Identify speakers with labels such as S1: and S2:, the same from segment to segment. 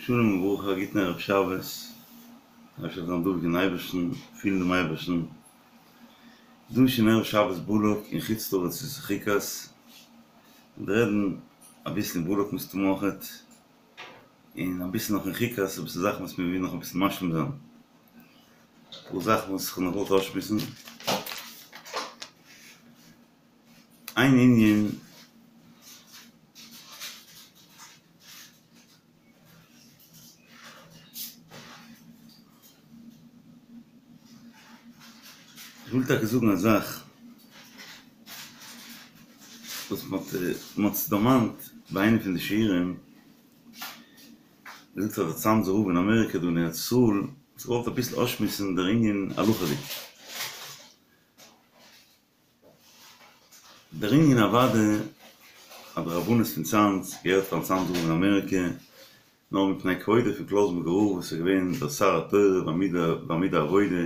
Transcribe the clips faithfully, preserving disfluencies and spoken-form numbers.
S1: שלום וברכה, א גוטן ערב שבת, אפשר זיין דבוק אין אייבערשטן, פילן דעם אייבערשטן, דא איז שוין ערב שבת בלק אין חוץ לארץ איז חוקת, מיר רעדן אביסל אין בלק מסתמא אויכעט, און אביסל נאך אין חוקת, אביסל זאכן וואס מיר ווילן נאך אביסל משלים זיין, אפאר זאכן וואס איך האב נאך געוואלט אויסשמועסן. איין ענין. איך וויל טאקע זאגן א זאך וואס מען האט עס דערמאנט ביי איינע פון די שיעורים, מען זאגט אז דער צאנזער רב אין אמעריקא דא אין ארץ ישראל האט געוואלט אביסל אויסשמועסן דער ענין הלכה'דיג. דער ענין אוודאי אז די רבנות פון צאנז געהערט פארן צאנזער רב אין אמעריקע, נאר מפני כבודו פון קלויזנבורגער רב וואס איז געווען דער שר התורה ועמוד העבודה,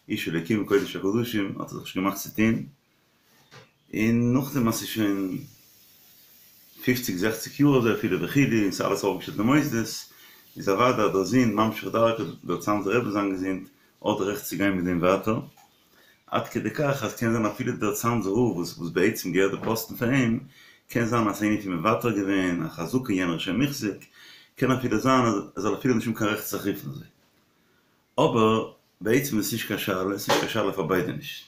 S1: איש אלוקים וקודש הקדשים, האט ער זיך נישט געמאכט צו טון, און נאכדעם אז ס'איז שוין פופציג זעכציג יאר אזוי אפילו וכו' און ס'איז אלעס אויפגעשטעלט די מוסדות, איז אוודאי אז דער זון ממשיך דרכו דער צאנזער רבי זיין געזונט האט די רעכט צו גיין מיט דעם ווייטער. עד כדי כך אז קען זיין אפילו דער צאנזער רב וואס וואס בעצם געהערט די פאסטן פאר אים, קען זיין אז ס'איז פון מוותר געווען, א חזקה יענער איז שוין מוחזק, קען אפילו זיין אז ער זאל אפילו נישט האבן קיין רעכט זיך רופן אזוי. אבער בעצם איז עס נישט קיין שאלה, עס איז נישט קיין שאלה פאר ביידע נישט.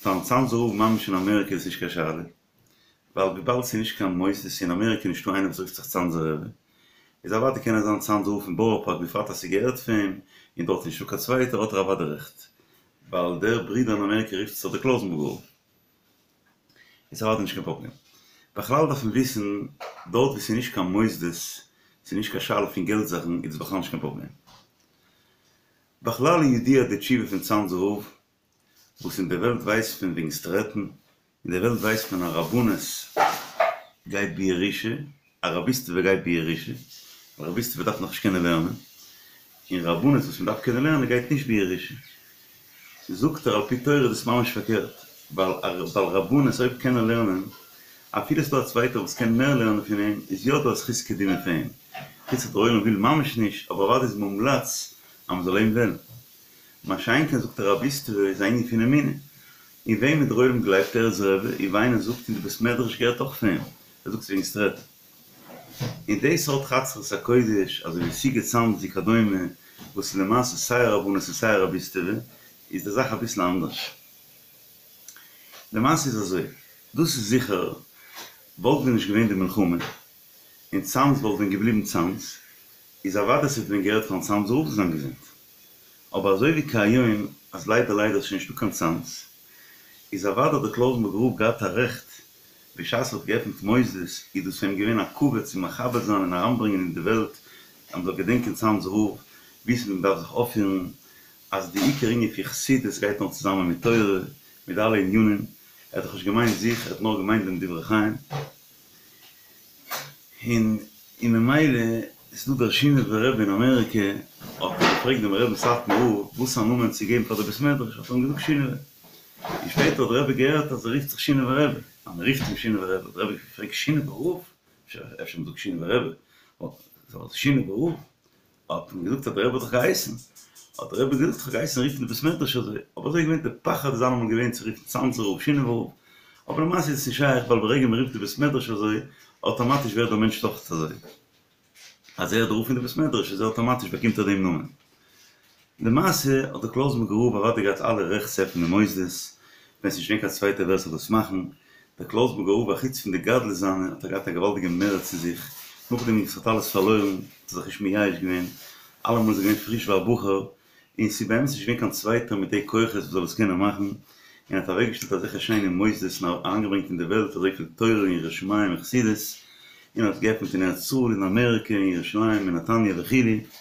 S1: פארן צאנזער רב ממש אין אמעריקע איז עס נישט קיין שאלה, ווייל וויבאלד ס'איז נישט קיין מוסדות אין אמעריקע נישטא איינער וואס רופט זיך צאנזער רבי, איז אוודאי קען ער זיין צאנזער רב פון בארא פארק בפרט אז ס'געהערט פאר אים, און דארט איז נישטא קיין צווייטער האט ער אוודאי רעכט, ווייל דער ברודער אין אמעריקע רופט זיך דער קלויזנבורגער רב. איז אוודאי נישט קיין פראבלעם. בכלל דארף מען וויסן, דארט וואו ס'איז נישט קיין מוסדות, ס'איז נישט קיין שאלה פון געלט זאכן, איז עס בכלל נישט קיין פראבלעם. בכלל איז ידוע די תשובה פון צאנזער רב, וואס אין די וועלט ווייסט מען וועגן סטרעטן, אין די וועלט ווייסט מען אז רבנות גייט בירושה, א רביסטעווע גייט בירושה, א רביסטעווע דארף נאכנישט קענען לערנען, און רבנות וואס מען דארף קענען לערנען גייט נישט בירושה. זאגט ער על פי תורה איז דאס ממש פארקערט, ווייל ווייל רבנות אויב קען ער לערנען, אפילו ס'דא א צווייטער וואס קען מער לערנען פון אים, איז יא דא א זכות קדימה פאר אים, חוץ אז דער עולם וויל ממש נישט, אבער אוודאי איז מומלץ אז מ'זאל אים וועלן. מה שאין כן זאגט ער רביסטעווע איז א ענין פון אמונה, אין וועמען דער עולם גלייבט ער איז רבי, און ווי איינער זאגט אין די בית מדרש געהערט אויך פון אים, ער זאגט וועגן סטרעטן. און די סארט חצרות הקודש אזוי ווי סיגוט צאנז וכדומה וואס איז למעשה סיי א רבנות און סיי א רביסטעווע איז די זאך אביסל אנדערש. למעשה איז אזוי, דאס איז זיכער וואלט ווען נישט געווען די מלחמה און צאנז וואלט ווען געבליבן צאנז איז אוודאי ס'וואלט ווען געהערט פארן צאנזער רב זיין געזונט. אבער אזוי ווי כהיום אז ליידער ליידער איז שוין נישטא קיין צאנז, איז אוודאי האט דער קלויזנבורגער רב געהאט א רעכט, בשעת ער האט געעפנט מוסדות איז דאס פאר אים געווען א כבוד צו מכבד זיין און אריינברענגען אין די וועלט אז מ'זאל געדענקען צאנזער רב, וויסן ווי מ'דארף זיך אויפפירן, אז די עיקר ענין פון חסידות גייט נאר צוזאמען מיט תורה, מיט אלע ענינים, ער האט דאך נישט געמיינט זיך, ער האט נאר געמיינט דעם דברי חיים. און און ממילא איז דא דער שינאווער רבי אין אמעריקע האט ער געפרעגט דעם רבין סאטמאר רב וואס א נאמען צו געבן פאר די בית מדרש האט ער אים געזאגט שינאווע און שפעטער האט דער רבי געהערט אז ער רופט זיך שינאווער רבי אז מען רופט אים שינאווער רבי האט דער רבי געפרעגט שינאווער רב אפשר מען זאגט שינאווער רבי שינאווער רב האט מען געזאגט אז דער רבי האט דאך געהייסן, האט דער רבי געזאגט איך האב געהייסן רופן די בית מדרש אזוי, אבער אזוי איז געווען די פחד איז אלעמאל געווען צו רופן צאנזער רב שינאווער רב, אבער למעשה איז עס נישט שייך ווייל ברגע מען רופט די בית מדרש אזוי, אטאמאטיש ווערט דער מענטש דאך אזוי, אז ער איז דער רב פון די בית מדרש איז ער אטאמאטיש באקומט ער דעם נאמען. למעשה האט דער קלויזנבורגער רב אוודאי געהאט אלע רעכט צו עפענען מוסדות, ווען ס'נישט געווען קיין צווייטער ווער ס'זאל דאס מאכן, דער קלויזנבורגער רב אחוץ פון די גדלות זיינע האט ער געהאט א געוואלדיגע מרץ אין זיך, נאכדעם וואס ער האט אלעס פארלוירן האט ער זיך נישט מייאש געווען, אלעמאל איז ער געווען פריש ווי א בחור, און ס'איז באמת נישט געווען קיין צווייטער מיט די כוחות וואס זאל עס קענען מאכן, און האט אוועקגעשטעלט אזעלכע שיינע מוסדות און אריינגעברענגט אין די וועלט אזויפיל תורה און יראת שמים און חסידות, און האט געעפנט אין ארץ ישראל, אין אמעריקע, אין ירושלים, אין נתניה וכו'.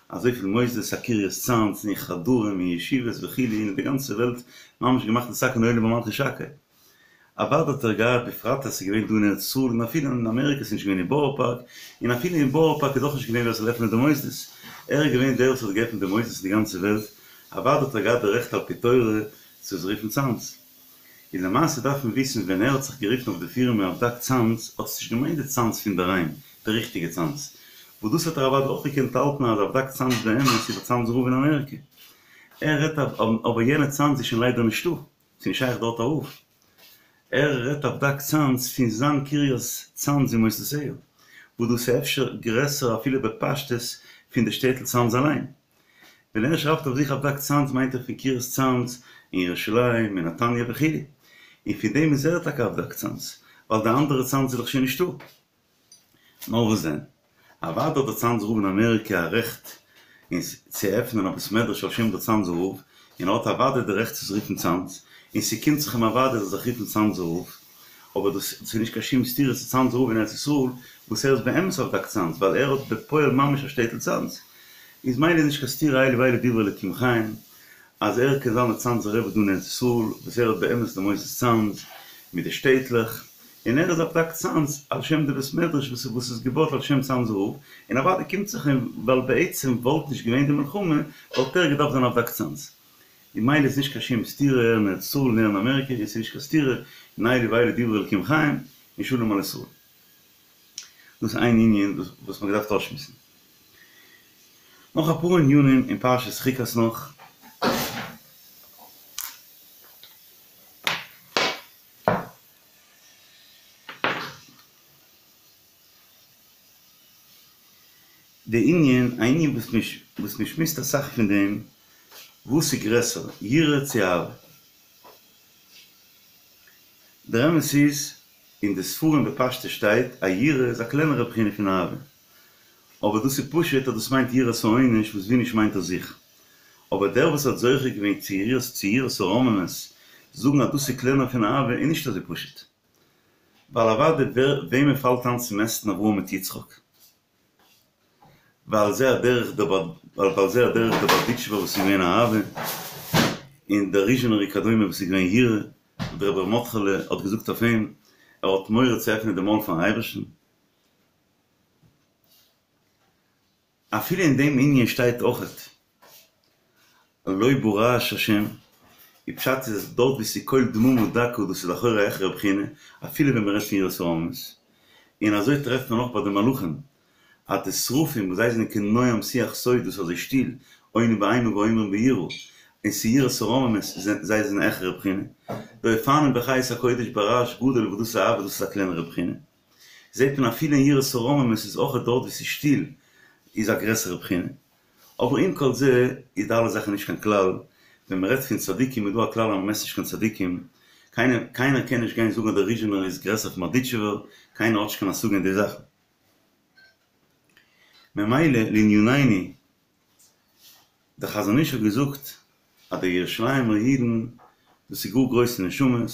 S1: אזויפיל מוסדות הקרית צאנז און חדרים און ישיבות וכו' אין די גאנצע וועלט ממש געמאכט נתקן עולם במלכות שקי. אוודאי האט ער געהאט בפרט אז ס'איז געווען דא אין ארץ ישראל און אפילו אין אמעריקע ס'איז נישט געווען אין בארא פארק און אפילו אין בארא פארק איז אויך נישט געווען ווער ס'זאל עפענען די מוסדות ער איז געווען דער וואס האט געעפנט די מוסדות אין די גאנצע וועלט אוודאי האט ער געהאט די רעכט על פי תורה צו עס רופן צאנז. און למעשה דארף מען וויסן ווען ער האט זיך גערופן אויף די פירמע אבדק צאנז האט עס נישט געמיינט די צאנז פון דערהיים די ריכטיגע צאנז וואס דאס האט ער אוודאי אויך געקענט האלטן אז אבדק צאנז באמת איז דער צאנזער רב אין אמעריקע. ער רעדט אבער יענע צאנז איז שוין ליידער נישטא, ס'איז נישט שייך דארט א רב. ער רעדט אבדק צאנז פון זיין קרית צאנז ומוסדותיה, וואס דאס איז אפשר גרעסער אפילו בפשטות פון די שטעטל צאנז אליין. ווען ער שרייבט אויף זיך אבדק צאנז מיינט ער פון קרית צאנז אין ירושלים, אין נתניה וכו'. און פון דעם איז ער טאקע אבדק צאנז, ווייל די אנדערע צאנז איז דאך שוין נישטא. נאר וואס דען? אוודאי האט דער צאנזער רב אין אמעריקע א רעכט אין צו עפענען א בית מדרש על שם דער צאנזער רב, און ער האט אוודאי די רעכט צו זיך רופן צאנז, און ס'קומט זיך אים אוודאי ער זאל זיך רופן צאנזער רב, אבער דאס איז נישט קיין שום סתירה צו צאנזער רב אין ארץ ישראל, וואס ער איז באמת אבדק צאנז, ווייל ער האט בפועל ממש א שטעטל צאנז, איז מילא נישט קיין סתירה אלו ואלו דברי אלוקים חיים, אז ער קען זיין דער צאנזער רבי דא אין ארץ ישראל, וואס ער האט באמת די מוסדות צאנז, מיט די שטעטלעך, און ער איז אבדק צאנז על שם די בית מדרש וואס וואס איז געבויט על שם צאנזער רב, און אוודאי קומט זיך אים, ווייל בעצם וואלט נישט געווען די מלחמה, וואלט ער געדארפט זיין אבדק צאנז. און מילא איז נישט קיין שום סתירה ער אין ארץ ישראל און ער אין אמעריקע, און ס'איז נישט קיין סתירה, און אלו ואלו דברי אלקים חיים, און שלום על ישראל. דאס איז איין ענין וואס מ'האט געדארפט אויסשמועסן. נאך אפאר ענינים אין פרשת חוקת נאך. די ענין, א ענין וואס מען שמועסט אסאך פון דעם, וואס איז גרעסער, יראה צו אהבה? דער אמת איז, אין די ספרים בפשטות שטייט אז יראה איז א קלענערע בחינה פון אהבה, אבער דאס איז פשוט אז דאס מיינט יראת העונש וואס ווי נישט מיינט ער זיך, אבער דער וואס האט זוכה געווען צו יראת צו יראת הרוממות, זאגן אז דאס איז קלענער פון אהבה איז נישט אזוי פשוט. ווייל אוודאי ווער וועמען פאלט איין צו מעסטן אברהם מיט יצחק? ועל זה הדרך דער ועל זה הדרך דער בארדיטשובער וואס איז געווען אהבה, און דער ריזשינער וכדומה וואס איז געווען יראה, דער רבי ר' מרדכי'לע האט געזאגט אויף אים, ער האט מורא צו עפענען די מויל פארן אייבערשטן. אפילו אין דעם ענין שטייט אויכעט לא ברעש השם, די פשט איז אז דארט וואו ס'איז קול דממה דקה דאס איז לכאורה א העכערע בחינה, אפילו ווען מ'רעדט פון יראת הרוממות. און אזוי טרעפט מען אויך ביי די מלאכים, אז די שרפים וואס זיי זענען כנועם שיח סוד דאס איז אזוי שטיל, עונים באימה ואומרים ביראה, און ס'איז יראת הרוממות, זיי זענען א העכערע בחינה. די אופנים בחיות הקודש ברעש גדול וואס דאס איז אהבה דאס איז א קלענערע בחינה. זעט מען אפילו אין יראת הרוממות איז אויך דארט וואו ס'איז שטיל איז א גרעסערע בחינה. אבער עם כל זה איז די אלע זאכן נישט קיין כלל, ווען מען רעדט פון צדיקים איז דא א כלל אז מען מעסט נישט קיין צדיקים, קיינער קיינער קען נישט גיין זאגן אז דער ריזשינער איז גרעסער פון בארדיטשובער, קיינער האט נישט קיין השגה אין די זאכן. ממילא לענינינו, דער חזון איש האט געזאגט אז די ירושלימ'ער אידן דאס איז גאר גרויסע נשמות,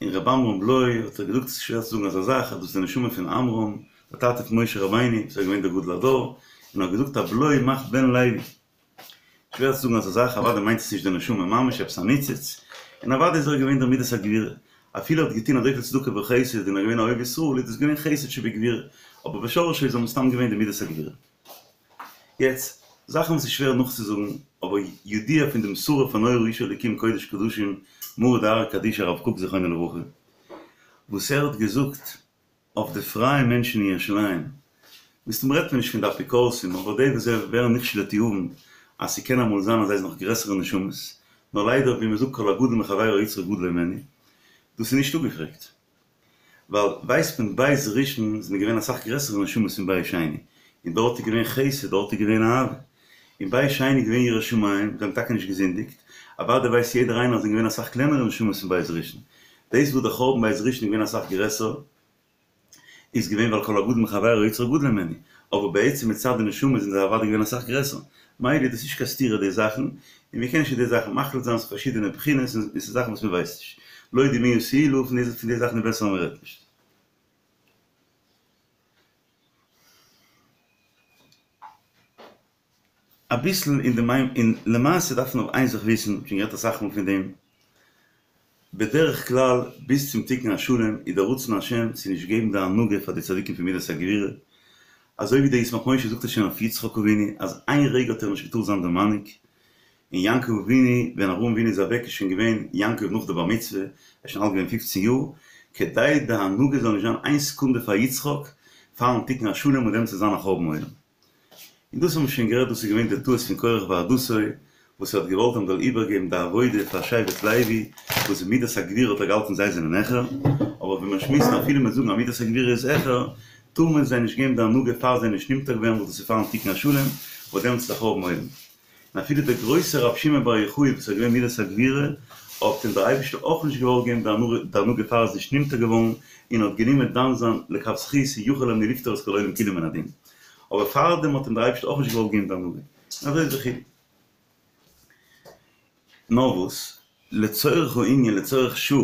S1: און ר' עמרם בלוי האט ער געזאגט עס איז שווער צו זאגן אזא זאך אז דאס איז די נשמה פון עמרם דער טאטע פון משה רבינו וואס איז געווען דער גדול הדור, און האט געזאגט אז בלוי מאכט בן לוי. שווער צו זאגן אזא זאך, אוודאי מיינט עס נישט די נשמה ממש, עפעס א ניצוץ, און אוודאי איז ער געווען דער מידת הגבורה, אפילו ער האט געטון אזויפיל צדקה וחסד און ער איז געווען א אוהב ישראל איז דאס געווען חסד שבגבורה, אבער בשורשו איז ער מסתם געווען די מידת הגבורה. יעצט, זאכן וואס איז שווער נאכצוזאגן, אבער ידוע פון דעם שרף הנורא איש אלוקים קודש קדשים מרא דארעא קדישא הרב קוק זכרונו לברכה, וואס ער האט געזאגט אויף די פרייע מענטשן אין ירושלים, מסתם רעדט מען נישט פון די אפיקורסים, אבער די וואס זיי ווערן נכשל לתיאבון, אז ס'קען אמאל זיין אז זיי זענען נאך גרעסערע נשמות, נאר ליידער ווי מ'זאגט כל הגדול מחבירו יצרו גדול הימנו, דאס איז נישט אפגעפרעגט. ווייל ווייסט מען בית ראשון זענען געווען אסאך גרעסערע נשמות פון בית שני, און דארט איז געווען חסד, דארט איז געווען אהבה. אין בית שני איז געווען יראת שמים, זיי האבן טאקע נישט געזינדיגט, אוודאי ווייסט יעדער איינער אז זענען געווען אסאך קלענערע נשמות פון בית ראשון. דאס וואס דער חורבן בית ראשון איז געווען אסאך גרעסער, איז געווען ווייל כל הגדול מחבירו יצרו גדול הימנו, אבער בעצם מצד די נשמה זענען זיי אוודאי געווען אסאך גרעסער, מילא איז דאס נישט קיין סתירה די זאכן, און מ'קען נישט אין די זאכן מחליט זיין, ס'איז פארשידענע בחינות און ס'איז זאכן וואס מ'ווייסט נישט, לא די מי ישילו, פון די זאכן איז בעסער אז מ'רעדט נישט. אביסל אין די מיין און למעשה דארף מען אבער איין זאך וויסן, שוין גערעדט אסאך מאל פון דעם, בדרך כלל ביז צום תיקון השלם איז דער רצון השם צו נישט געבן די הנהגה פאר די צדיקים פון מידת הגבורה, אזוי ווי דער ישמח משה זאגט עס שוין אויף יצחק אבינו אז איין רגע האט ער נישט געטארט זיין דער מנהיג, און יעקב אבינו ווען אברהם אבינו איז אוועק איז שוין געווען יעקב נאך די בר מצוה, ער איז שוין אלט געווען פופצן יאר, כדי די הנהגה זאל נישט זיין איין סעקונדע פאר יצחק, פארן תיקון השלם און דעמאלטס וועט זיין א חורבן עולם. און דאס האבן מיר שוין גערעדט דאס איז געווען די טעות פון קורח ועדתו וואס ער האט געוואלט אז מ'זאל איבערגעבן די עבודה פאר שבט לוי וואס אין מידת הגבורה האט ער געהאלטן זיי זענען העכער, אבער ווי מיר שמועסן אפילו מיר זאגן אז מידת הגבורה איז העכער טאר מען זיי נישט געבן די הנהגה פאר זיי נישט נמתק ווערן וואס דאס איז פארן תיקון השלם וואס דעמאלטס איז א חורבן עולם. און אפילו דער גרויסער רבי שמעון בר יוחאי וואס איז געווען מידת הגבורה האט אים דער אייבערשטער אויך נישט געוואלט געבן די הנהגה פאר ער איז נישט נמתק געווארן און האט גענומען דן זיין לכף זכות יכול אני לפטור את כל העולם כולו מן הדין אבער פארדעם האט אים דער אייבערשטער אויך נישט געוואלט געבן די הנהגה און אזוי איז וכו'. נאר וואס, לצורך הענין לצורך שעה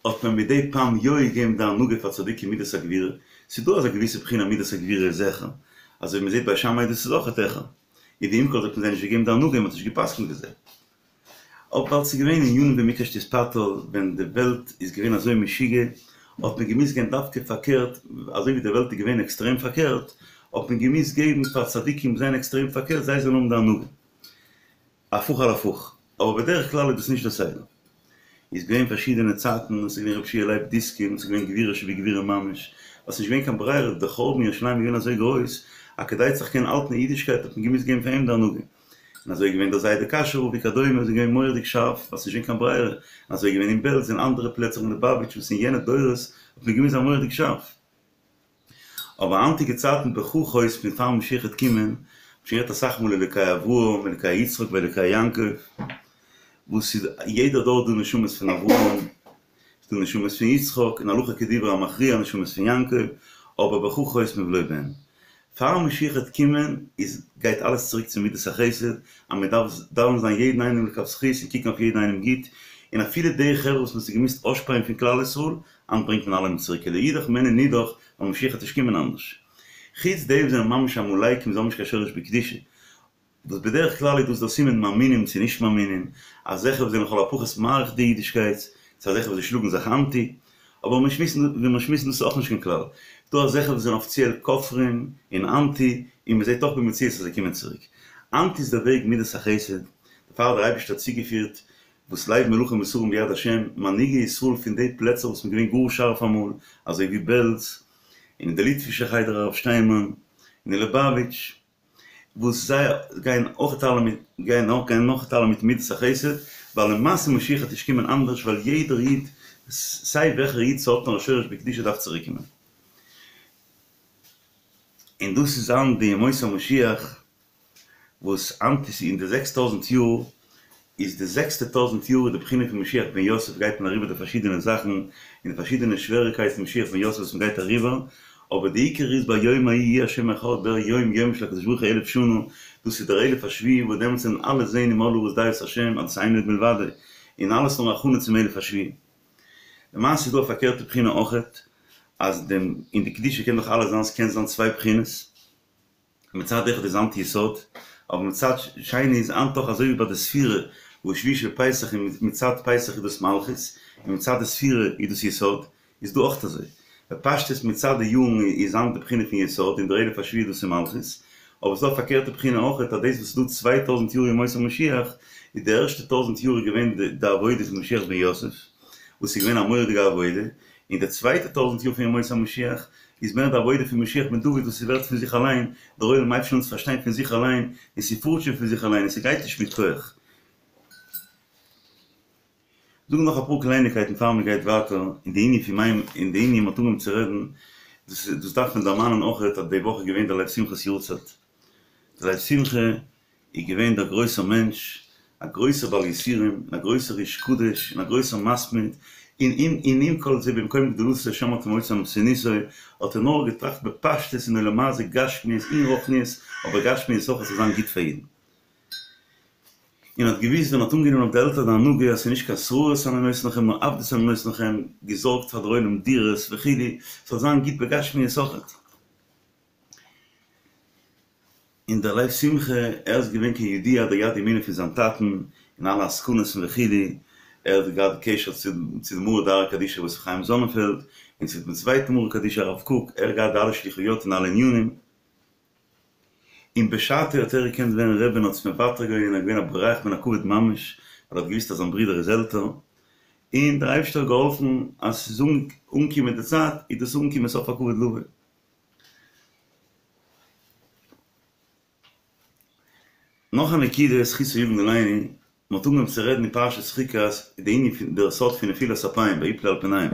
S1: האט מען מדי פעם יא געגעבן די הנהגה פאר צדיקים מידת הגבורה, ס'איז דא אזא געוויסע בחינה מידת הגבורה איז העכער, אזוי ווי מ'זעט ביי שמאי דאס איז אויכעט העכער, און ועם כל זה האט מען זיי נישט געגעבן די הנהגה און מ'האט נישט גע'פסק'נט ווי זיי. אבער ווייל ס'איז געווען ענינים ווי מקש תתפטר ווען די וועלט איז געווען אזוי משוגע האט מען געמוזט גיין דווקא פארקערט, אזוי ווי די וועלט איז געווען עקסטרעם פארקערט האט מען געמוזט געבן פאר צדיקים וואס זענען עקסטרעם פארקערט זיי זאלן האבן די הנהגה. הפוך על הפוך, אבער בדרך כלל איז דאס נישט דער סדר. איז געווען פארשידענע צייטן, עס איז געווען רבי שיע לייב דיסקין, עס איז געווען גבורה שבגבורה ממש, ווייל עס איז נישט געווען קיין ברירה, דער חורבן ירושלים איז געווען אזוי גרויס, אז כדי צו זיך קענען האלטן אין אידישקייט האט מען געמוזט געבן פאר אים די הנהגה. און אזוי איז געווען דער זיידע קאשוי רב וכדומה, איז געווען מורא'דיג שארף, ווייל עס איז נישט געווען קיין ברירה. און אזוי איז געווען אין בעלז און אנדערע פלעצער אין ליבאוויטש וואס אין יענע דורות האט מען געמוזט זיין מורא'דיג שארף. אבער היינטיגע צייטן בכוחות פון פאר משיח וועט קומען, מ'האט שוין גערעדט אסאך מאל אלוקי אברהם, אלוקי יצחק ואלוקי יעקב, וואס איז יעדער דור דא נשמות פון אברהם, ס'איז דא נשמות פון יצחק, און הלכה כדברי המכריע נשמות פון יעקב, אבער בך חותמים ולא בן. פאר משיח וועט קומען איז גייט אלעס צוריק צו מידת החסד, אז מען דארף דן זיין יעדן איינעם לכף זכות און קוקן אויף יעדן איינעם גוט, און אפילו די חברה וואס מען האט זיי געמוזט אויסשפייען פון כלל ישראל, היינט ברענגט מען אלעמען צוריק לאידך ומעין נידח, ווייל משיח וועט נישט קומען אנדערש. חוץ די וואס זענען ממש עמלקים זיי האבן נישט קיין שורש בקדושה, וואס בדרך כלל איז דאס דער סימן מאמינים צו נישט מאמינים, אזעלכע וואס זענען לכל הפחות מעריך די אידישקייט, צו אזעלכע וואס זיי שלאגן זיך אנטי, אבער מיר שמועסן ווי מיר שמועסן דאס איז אויך נישט קיין כלל, ס'דא אזעלכע וואס זענען אפיציעל כופרים און אנטי, און מען זעט אויך במציאות אז זיי קומען צוריק. היינט איז דער וועג מידת החסד, דערפאר האט דער אייבערשטער צוגעפירט וואס לב מלכים ושרים ביד השם, מנהיגי ישראל פון די פלעצער וואס מ'איז געווען גאר שארף אמאל, אזוי ווי בעלז, און אין די ליטווישע חדר הרב שטיינמאן, און אין ליובאוויטש, וואס זיי גייען אויך אלע מיט, גייען אויך גייען נאך אלע מיט מידת החסד, ווייל למעשה משיח וועט נישט קומען אנדערש ווייל יעדער איד, סיי וועלכער איד ס'האט נאר א שורש בקדושה דארף צוריק קומען. און דאס איז היינט די ימות המשיח. וואס היינט איז אין די זעקס טויזנט יאר, איז די זעקסטע טויזנט יאר איז די בחינה פון משיח בן יוסף גייט מען אריבער די פארשידענע זאכן און די פארשידענע שוועריקייטן משיח בן יוסף וואס מען גייט אריבער, אבער די עיקר איז ביום ההוא יהיה השם אחד דער יום יום של הקדוש ברוך הוא אלף שנה, דאס איז דער אלף השביעי וואס דעמאלטס וועלן אלע זעהן ומלאה הארץ דעה את השם אז דאס אין עוד מלבדו, און אלעס נאר הכנה צום אלף השביעי. למעשה איז דא א פארקערטע בחינה אויכעט, אז דעם אין די קדושה קען דאך אלעס זיין, ס'קען זיין צוויי בחינות, מצד אחד איז היינט יסוד, אבער מצד שני איז היינט אויך אזוי ווי ביי די ספירה וואס שביעי של פסח און מצד פסח איז דאס מלכות און מצד די ספירה איז דאס יסוד, איז דא אויך אזוי. בפשטות מצד די יארן איז היינט די בחינה פון יסוד און דער אלף השביעי דאס איז מלכות, אבער ס'איז דא א פארקערטע בחינה אויך אז דאס וואס ס'איז דא צוויי טויזנט יאר ימות המשיח איז די ערשטע טויזנט יאר איז געווען די עבודה פון משיח בן יוסף וואס איז געווען א מורא'דיגע עבודה, און די צווייטע טויזנט יאר פון ימות המשיח איז מער די עבודה פון משיח בן דוד וואס ס'ווערט פון זיך אליין, דער עולם הייבט שוין אן צו פארשטיין פון זיך אליין, און ס'פארט שוין פון זיך אליין און ס'גייט נישט מיט כח. זאגן נאך אפאר קלייניקייטן פאר מ'גייט ווייטער אין די ענין פון מים אין די ענין מ'האט אנגעהויבן צו רעדן, דאס דאס דארף מען דערמאנען אויכעט אז די וואך איז געווען דער לב שמחה'ס יארצייט, דער לב שמחה איז געווען דער גרויסער מענטש, א גרויסער בעל יסורים, און א גרויסער איש קדוש, און א גרויסער מתמיד, און און און עם כל זה במקום גדולתו שם האט מוצא ענוותנותו, האט ער נאר געטראכט בפשטות אין עולם הזה גשמיות און רוחניות, אבער גשמיות אויך עס זאל זיין גוט פאר אידן. און האט געוויסט ווען ער האט אנגענומען אויף די עלטער די הנהגה אז ס'איז נישט קיין שררות אני נותן לכם נאר עבדות אני נותן לכם, געזארגט פאר דער עולם דירות וכו', ס'זאל זיין גוט בגשמיות אויכעט. און דער לב שמחה, ער איז געווען כידוע דער יד ימינו פון זיין טאטן אין אלע עסקנות און וכו', ער האט געהאט קשר צו צו די מרא דארעא קדישא ר' יוסף חיים זאנענפעלד, און צו דעם צווייטן מרא קדישא הרב קוק, ער האט געהאט די אלע שליחויות און אלע ענינים, און בשעתו האט ער געקענט ווערן רבי און האט עס מוותר געווען און ער איז געווען א בורח מן הכבוד ממש, ווייל ער האט געוויסט אז זיין ברודער איז עלטער, און דער אייבערשטער האט געהאלפן אז ס'איז אנגעקומען די צייט, איז דאס אנגעקומען סוף הכבוד לבוא. נאך א נקודה, זכותו יגן עלינו, מען האט אנגעהויבן צו רעדן אין פרשת חוקת די ענין פון דער סוד פון נפילת אפיים ויפלו על פניהם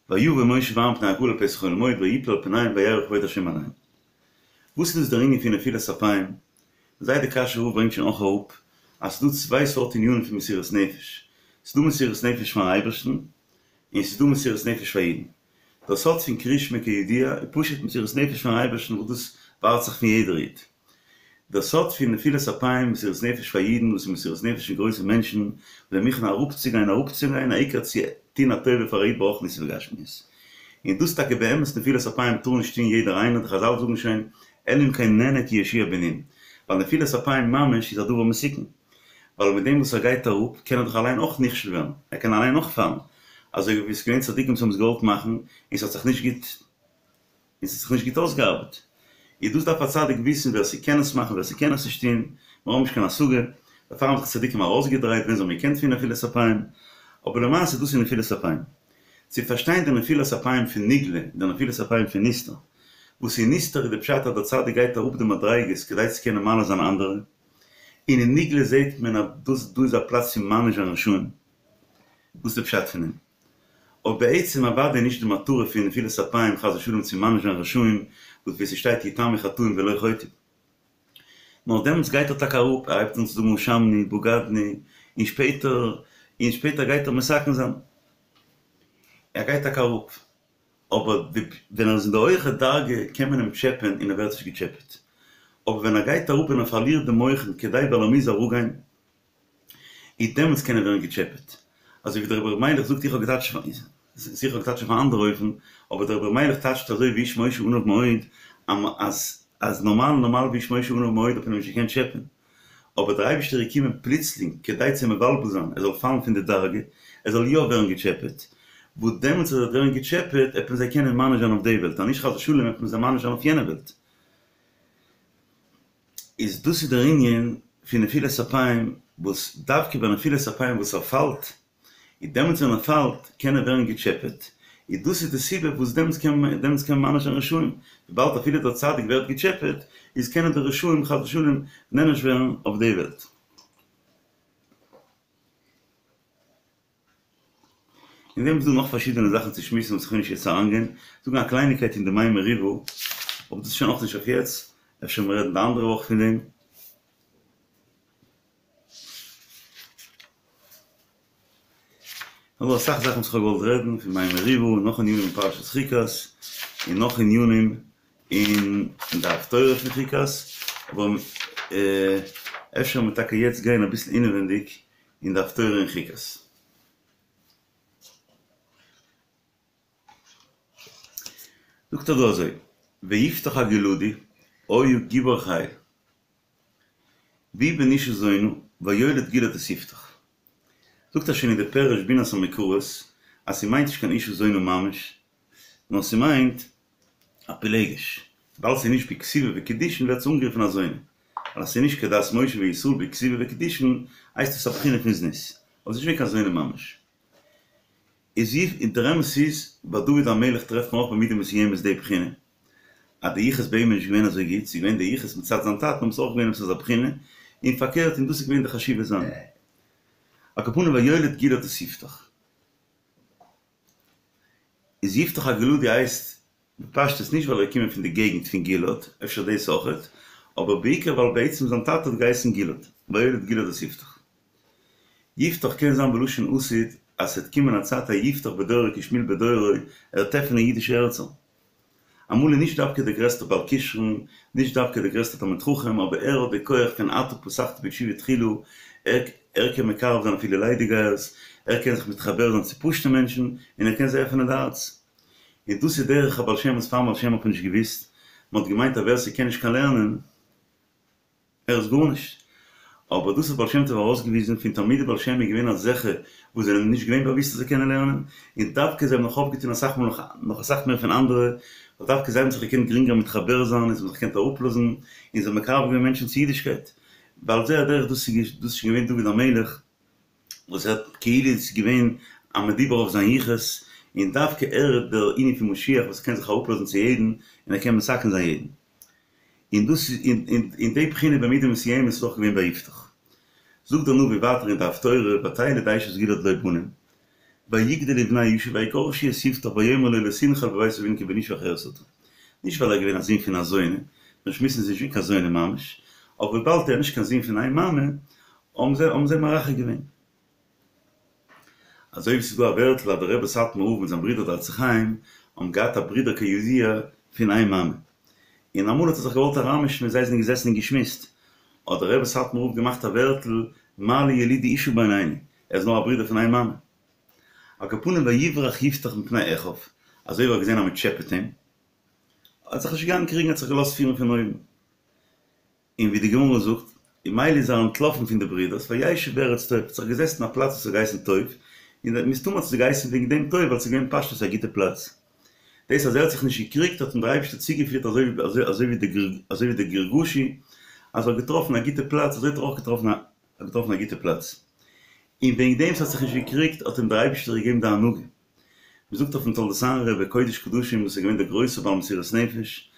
S1: ויבא משה ואהרן פני הקהל אל פתח אוהל מועד ויפלו על פניהם ויראו כבוד השם עליהם. וואס איז דאס דער ענין פון נפילת אפיים? זייט די קאשוי רב ברענגט שוין אויך אראפ אז ס'דא צוויי סארט ענינים פון מסירות נפש, ס'דא מסירות נפש פארן אייבערשטן און ס'דא מסירות נפש פאר אידן. דער סוד פון קריאת שמע כידוע איז פשוט מסירות נפש פארן אייבערשטן וואס דאס ווארט זיך פון יעדער איד. דער סוד פון נפילת אפיים, מסירות נפש פאר אידן, וואס איז מסירות נפש פון גרויסע מענטשן, וואס זענען מוכן אראפצוגיין אראפצוגיין, העיקר צו טון א טובה פאר א איד ברוחניות ובגשמיות. און דאס טאקע באמת נפילת אפיים טאר נישט טון יעדער איינער, די חזל זאגן שוין, אלא אם כן נהנה כיהושע בן נון, ווייל נפילת אפיים ממש איז א דבר מסוכן, ווייל מיט דעם וואס ער גייט אראפ קען ער דאך אליין אויך נכשל ווערן, ער קען אליין אויך פאלן, אזוי ווי עס איז געווען צדיקים וואס האבן עס געוואלט מאכן און ס'האט זיך נישט גוט און ס'האט זיך נישט גוט אויסגעארבעט. איז דאס דארף א צדיק וויסן ווער ס'קען עס מאכן ווער ס'קען עס נישט טון, מיר האבן נישט קיין השגה, דערפאר האבן זיך צדיקים ארויסגעדרייט ווען זיי האבן געקענט פון נפילת אפיים, אבער למעשה דאס איז נפילת אפיים. צו פארשטיין די נפילת אפיים פון נגלה און די נפילת אפיים פון נסתר, וואס אין נסתר איז די פשט אז דער צדיק גייט אראפ די מדריגות כדי צו קענען מעלה זיין אנדערע, און אין נגלה זעט מען אז דאס דא איז א פלאץ פון מעניש זיין רשעים, דאס איז די פשט פון דעם. אבער בעצם אוודאי נישט די מטרה פון נפילת אפיים חס ושלום צו מעניש זיין רשעים, וואס ווי ס'שטייט יתמו חטאים ולא חוטאים. נאר דעמאלטס גייט ער טאקע אראפ, ער הייבט אן צו זאגן אשמנו, בגדנו, און שפעטער, און שפעטער גייט ער מתקן זיין. ער גייט טאקע אראפ, אבער ווען ער איז אין די הויכע דרגה קען מען אים טשעפען און ער ווערט נישט געטשעפעט. אבער ווען ער גייט אראפ און ער פארלירט די מוחין כדי ווייל ער מוז אראפגיין, איז דעמאלטס קען ער ווערן געטשעפעט. אזוי ווי דער רבי ר' מיילעך זאגט איך האב געטייטשט זיכער איך האב געטייטשט אויף א אנדערע אופן, אבער דער רבי ר' מיילעך טייטשט אזוי והאיש משה עניו מאוד, אז אז נארמאל נארמאל והאיש משה עניו מאוד האט מען אים נישט געקענט טשעפען, אבער דער אייבישטער איז געקומען פלוצלינג כדי צו מבלבל זיין ער זאל פאלן פון די דרגה, ער זאל יא ווערן געטשעפעט, וואס דעמאלטס אז ער וועט ווערן געטשעפעט עט מען זיי קענען מעניש זיין אויף די וועלט, אז נישט חס ושלום עט מען זיי מעניש זיין אויף יענע וועלט. איז דאס איז דער ענין פון נפילת אפיים, וואס דווקא ביי נפילת אפיים וואס ער פאלט, איז דעמאלטס ווען ער פאלט קען ער ווערן געטשעפעט, איז דאס איז די סיבה וואס דעמאלטס קען מען דעמאלטס קען מען מעניש זיין רשעים, וויבאלד אפילו דער צדיק ווערט געטשעפעט, איז קענען די רשעים חס ושלום נענש ווערן אויף די וועלט. אין דעם איז דא נאך פארשידענע זאכן צו שמועסן וואס איך וויל נישט יעצט אריינגיין, זאגן א קלייניקייט אין די מי מריבה, אבער דאס איז שוין אויך נישט אויף יעצט, אפשר מיר רעדן די אנדערע וואך פון דעם. נאך דא אסאך זאכן וואס איך האב געוואלט רעדן, פון מי מריבה, און נאך ענינים אין פרשת חוקת, און נאך ענינים אין די הפטורה פון חוקת, אבער אפשר מיר טאקע יעצט גיין אביסל אינעווענדיג אין די הפטורה אין חוקת. זאגט ער דא אזוי, ויפתח הגלעדי היה גיבור חיל, והוא בן אשה זונה ויולד גלעד את יפתח. זאגט ער שוין אין די פירוש בינת המקראות אז ס'מיינט נישט קיין אשה זונה ממש, נאר ס'מיינט א פילגש, ווייל ס'איז נישט בכתובה וקידושין ווערט עס אנגערופן א זונה, ווייל אז ס'איז נישט כדת משה וישראל בכתובה וקידושין הייסט עס א בחינה פון זנות, אבער ס'איז נישט געווען קיין זונה ממש. איז און דער אמת איז, ביי דוד המלך טרעפט מען אויך במידה מסוימת די בחינה, אז די יחוס ביי אים איז נישט געווען אזוי גוט, ס'איז געווען די יחוס מצד זיין טאטן אבער ס'איז אויך געווען עפעס אזא בחינה, און פארקערט און דאס איז געווען די חשיבות זיינע. על כל פנים ויולד גלעד את יפתח. איז יפתח הגלעדי הייסט בפשטות נישט ווייל ער איז געקומען פון די געגנט פון גלעד, אפשר דאס אויכעט, אבער בעיקר ווייל בעצם זיין טאטע האט געהייסן גלעד, ויולד גלעד את יפתח. יפתח קען זיין בלשון עתיד אז ס'וועט קומען א צייט א יפתח בדורו כשמואל בדורו, ער וועט עפענען אידישע הערצער. אמאל איז נישט דווקא דער גרעסטער בעל כשרון, נישט דווקא דער גרעסטער תלמיד חכם, אבער ער האט די כח פון אתה פתחת בתשובה תחילה, ער ער קען מקרב זיין אפילו ליידיגייערס, ער קען זיך מתחבר זיין צו פשוט'ע מענטשן, און ער קען זיי עפענען די הארץ. און דאס איז דרך הבעל שם וואס פארן בעל שם האט מען נישט געוואוסט, מען האט געמיינט אז ווער ס'קען נישט קיין לערנען, ער איז גארנישט. אבער דאס האט בעל שם טוב ארויסגעוויזן, פון תלמידי בעל שם איז געווען אזעלכע וואס זענען נישט געווען באוואוסט אז זיי קענען לערנען, און דווקא זיי האבן נאך אויפגעטון אסאך מאל נאך אסאך מער פון אנדערע, ווייל דווקא זיי האבן זיך געקענט גרינגער מתחבר זיין און זיי האבן זיך געקענט אראפלאזן, און זיי האבן מקרב געווען מענטשן צו אידישקייט. ועל זה הדרך דאס איז שוין געווען דוד המלך, וואס ער האט כאילו איז געווען א מדובר אויף זיין יחוס, און דווקא ער איז דער ענין פון משיח וואס קען זיך אראפלאזן צו יעדן, און ער קען מתקן זיין יעדן. און דאס איז און די בחינה במידה מסוימת איז אויך געווען ביי יפתח. זאגט דער נביא ווייטער אין די הפטורה, ותלד אשת גלעד לו בנים, ויגדלו בני האשה ויגרשו את יפתח ויאמרו לו לא תנחל בבית אבינו כי בן אשה אחרת אתה. נישט ווייל ער איז געווען א זון פון א זונה, מיר שמועסן ס'איז נישט געווען קיין זונה ממש, אבער וויבאלד ער איז נישט קיין זון פון איין מאמע, האבן זיי האבן זיי מרחק געווען. אזוי ווי ס'איז דא א ווערטל אז דער רבי סאטמאר רב מיט זיין ברודער דער עצי חיים האבן געהאט א ברודער כידוע פון איין מאמע, און אמאל האט ער זיך געוואלט אריינמישן ווען זיי זענען געזעסן און געשמועסט, האט דער רבי סאטמאר רב געמאכט א ווערטל מה לי ילידי אשה בינינו, ער איז נאר א ברודער פון איין מאמע. על כל פנים ויברח יפתח מפני אחיו, אזוי ווי ער האט געזען אז מען טשעפעט אים, האט זיך נישט געגאנגען קריגן האט זיך געלאזט פירן פון אויבן. און ווי די גמרא זאגט, און מילא איז ער אנטלאפן פון די ברידערס, וישב בארץ טוב, האט זיך געזעצט אין א פלאץ וואס האט געהייסן טוב, און מסתמא האט עס געהייסן וועגן דעם טוב ווייל ס'איז געווען פשטות א גוטע פלאץ. דאס אז ער האט זיך נישט געקריגט האט אים דער אייבערשטער צוגעפירט אזוי ווי דער גרגשי אז ער האט געטראפן א גוטע פלאץ, אזוי האט ער אויך געטראפן א געטראפן א גוטע פלאץ. און וועגן דעם ס'האט זיך נישט געקריגט האט אים דער אייבערשטער געגעבן די הנהגה. מ'זאגט אויפן תולדות אהרן רבי קודש קדשים וואס איז געווען דער גרויסער בעל מסירות נפש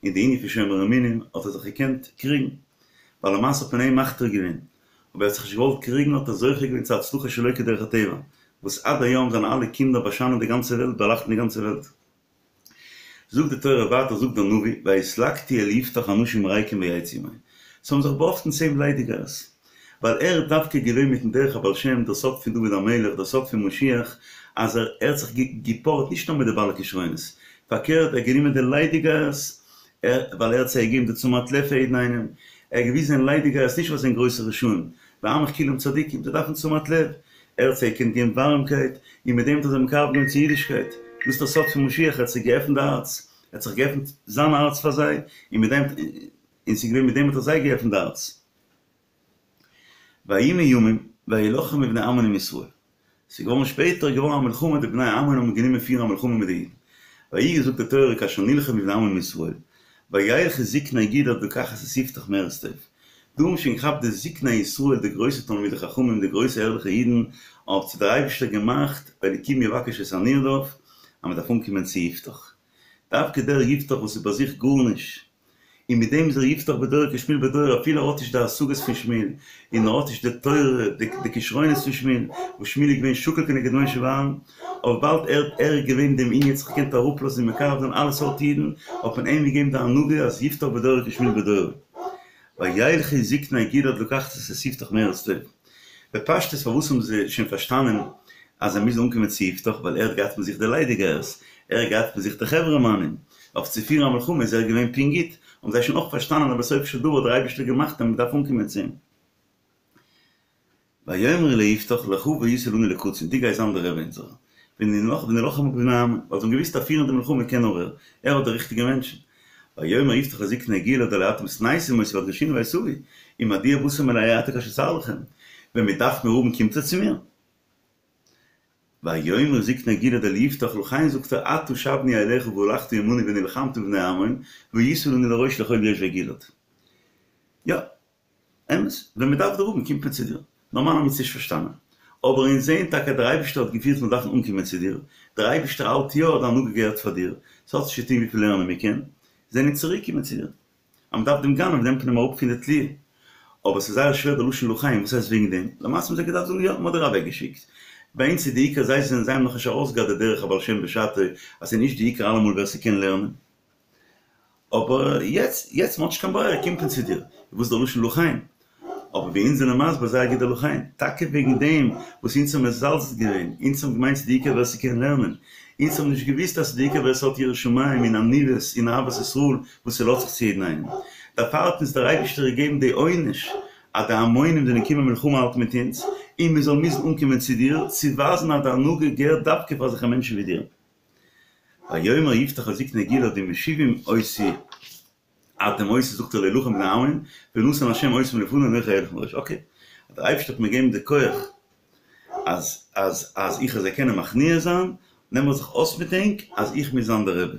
S1: אין די ענין פון שומר אמונים האט ער זיך געקענט קריגן ווייל למעשה האט מען אים מכתיר געווען אבער ער האט זיך נישט געוואלט קריגן האט ער זוכה געווען צו הצלחה שלא כדרך הטבע וואס עד היום זיינע אלע קינדער באשיינען די גאנצע וועלט באלייכטן די גאנצע וועלט. זאגט די תורה ווייטער זאגט דער נביא ויתלקטו אל יפתח אנשים ריקים ויצאו עמו ס'האבן זיך באהאפטן צו אים ליידיגייערס ווייל ער איז דווקא געווען מיטן דרך הבעל שם דער סוד פון דוד המלך דער סוד פון משיח אז ער האט זיך געפארט נישט נאר מיט די בעלי כשרונות פארקערט ער האט גענומען די ליידיגייערס ער ווייל ער האט זיי געגעבן די תשומת לב פאר יעדן איינעם ער האט געוויזן זענען ליידיגייערס נישט ווייל זיי זענען גרויסע רשעים ועמך כולם צדיקים זיי דארפן תשומת לב ער האט זיי געקענט געבן ווארעמקייט, און מיט דעם האט ער זיי מקרב געווען צו אידישקייט. דאס איז דער סוד פון משיח, ער האט זיי געעפנט די הארץ, ער האט זיך געעפנט זיין הארץ פאר זיי, און מיט דעם, און ס'איז געווען מיט דעם האט ער זיי געעפנט די הארץ. ויהי מימים וילחמו בני עמון עם ישראל. ס'איז געווארן שפעטער איז געווארן א מלחמה, די בני עמון האבן גענומען פירן א מלחמה מיט די אידן. ויהי זאגט די תורה כאשר נלחמו בני עמון עם ישראל, וילכו זקני גלעד לקחת את יפתח מארץ טוב. דא האבן שוין געכאפט די זקני ישראל די גרויסע תלמידי חכמים די גרויסע ערליכע אידן האט זיך דער אייבישטער געמאכט והאלקים יבקש את הנרדף אז מען דארף אנקומען צו יפתח דווקא דער יפתח וואס איז ביי זיך גארנישט און מיט דעם איז ער יפתח בדורו כשמואל בדורו אפילו ער האט נישט די השגות פון שמואל און ער האט נישט די תורה די כשרונות פון שמואל וואס שמואל איז געווען שקול כנגד משה ואהרן אבער וויבאלד ער ער איז געווען דעם ענין האט זיך געקענט אראפלאזן און מקרב זיין אלע סארט אידן האט מען אים געגעבן די הנהגה אז יפתח בדורו כשמואל בדורו. וילכו זקני גלעד לקחת את יפתח מארץ טוב. בפשטות פארוואס האבן זיי שוין פארשטאנען אז זיי מוזן אנקומען צו יפתח ווייל ער האט געהאט מיט זיך די ליידיגייערס, ער האט געהאט מיט זיך די חברה מאנען, אויף צו פירן א מלחמה איז ער געווען פונקט גוט, האבן זיי שוין אויך פארשטאנען אז בסופו של דבר האט דער אייבערשטער געמאכט אז מען דארף אנקומען צו אים. ויאמרו ליפתח לכה והיית לנו לקצין, דו גייסט זיין דער רבי אונזערער, ונלחמה בבני עמון, ווייל זיי האבן געוואוסט אז פירן די מלחמה קען נאר ער, ער האט די ריכטיגע מענטשן. ויאמר יפתח לזקני גלעד הלא אתם שנאתם אותי והדרישוני ואת אבי, ומדוע באתם אלי עתה כאשר צר לכם, ווען מען דארף מיר האבן קומט איר צו מיר? ויאמרו זקני גלעד אל יפתח לכן זאגט ער עתה שבנו אליך והלכת עמנו ונלחמת בבני עמון, והיית לנו לראש לכל יושבי גלעד. יא. אמת, ווען מען דארף דיר האבן קומט מען צו דיר. נארמאל האבן מיר עס נישט פארשטאנען. אבער אונז זעען טאקע דער אייבערשטער האט געפירט מיר דארפן אנקומען צו דיר, דער אייבערשטער האלט יא די הנהגה געהערט פאר דיר, ס'האט נישט צו טון וויפיל לערנען מיר קען, זענען אונז צוריקקומען צו דיר. אז מען דארף דעם גנב נעמט מען אים אראפ פון די תליה. אבער ס'איז זייער שווער די לשון לכן, וואס הייסט וועגן דעם? למעשה האבן זיי געדארפט זאגן יא, מען האט דיר אוועקגעשיקט. ביי אונז איז די עיקר זיי זענען זיי האבן נאכנישט ארויסגעהאט די דרך הבעל שם בשעתו אז ס'איז נישט די עיקר אלעמאל ווער ס'קען לערנען. אבער יעצט, יעצט מ'האט נישט קיין ברירה קומט מען צו דיר, וואס איז דער לשון לכן? אבער ווי אונז זענען מסביר זייער גוט דער לכן, טאקע וועגן דעם וואס אונז האבן מזלזל געווען, אונז האבן געמיינט ס'איז די עיקר ווער ס'קען לערנען, אונז האבן נישט געוואוסט אז ס'איז די עיקר ווער ס'האט יראת שמים און עניוות און אהבת ישראל וואס ס'לאזט זיך צו יעדן איינעם. דערפאר האט אונז דער אייבערשטער געגעבן די עונש אז די עמונים זענען געקומען מלחמה האלטן מיט אונז, און מ'זאל מוזן אנקומען צו דיר, צו ווייזן אז די הנהגה געהערט דווקא פאר אזעלכע מענטשן ווי דיר. ויאמר יפתח אל זקני גלעד אם משיבים אותי אתם אותי זאגט ער להילחם בבני עמון ונתן השם אותם לפני אנכי אלך מראש אקעי דער אייבערשטער האט מיר געגעבן די כח אז אז אז איך זאל זיי קענען מכניע זיין נעם איך זיך אויס מיט ענק אז איך מוז זיין דער רבי